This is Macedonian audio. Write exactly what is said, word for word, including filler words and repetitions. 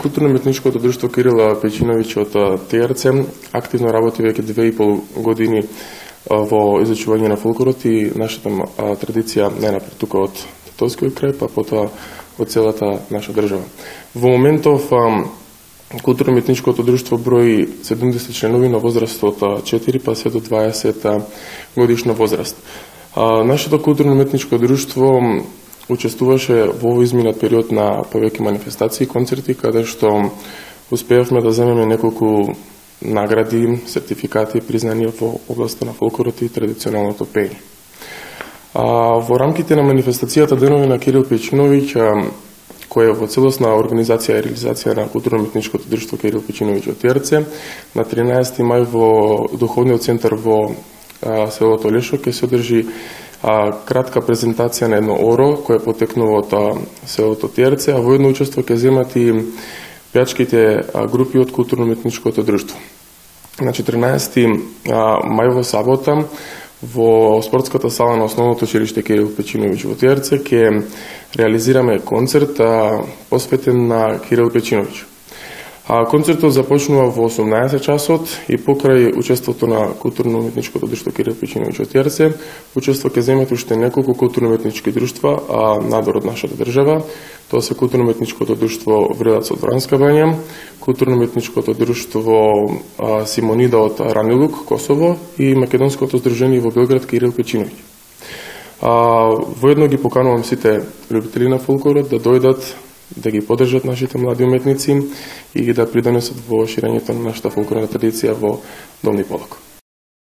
Културно-уметничкото друштво Кирил Печиновиќ од Т Р Ц активно работи веќе две и пол години во изучување на фолклорот и нашата традиција најнапред тука од Тетовскиот крај, па потоа од целата наша држава. Во моментов Културно-уметничкото друштво брои седумдесет членови на возраст од четири па се до дваесет годишна возраст. Нашето културно-уметничко друштво учествуваше во овој изминат период на повеќе манифестации и концерти, каде што успеавме да земеме неколку награди, сертификати, признанија во областта на фолклорот и традиционалното пеење. Во рамките на манифестацијата Денови на Кирил Печиновиќ, која е во целосна организација и реализација на Културно-уметничкото друштво Кирил Печиновиќ од Т Р Ц, на тринаесети мај во Духовниот центар во селото Лешо ќе се одржи А, кратка презентација на едно оро кој потекнува од селото Т Р Ц, а во едно учество ќе земат и пеачките групи од Културно-уметничкото друштво. На четрнаесети мај во сабота во спортската сала на Основното училиште Кирил Печиновиќ во Т Р Ц ќе реализираме концерт а, посветен на Кирил Печиновиќ. А, концертот започнува во осумнаесет часот и покрај учеството на Културно-уметничкото друштво Кирил Печиновиќ од Т Р Ц, учество ќе земат уште неколку културно-уметнички друштва а, надвор од нашата држава. Тоа се Културно-уметничкото друштво Врелац од Вранска бања, Културно-уметничкото друштво а, Симонида од Ранилук, Косово и Македонското здружение во Белград Кирил Печиновиќ. А, воедно ги поканувам сите љубители на фолклорот да дојдат да ги поддржат нашите млади уметници и да придонесат во ширењето на нашата фолклорна традиција во Долни Полок.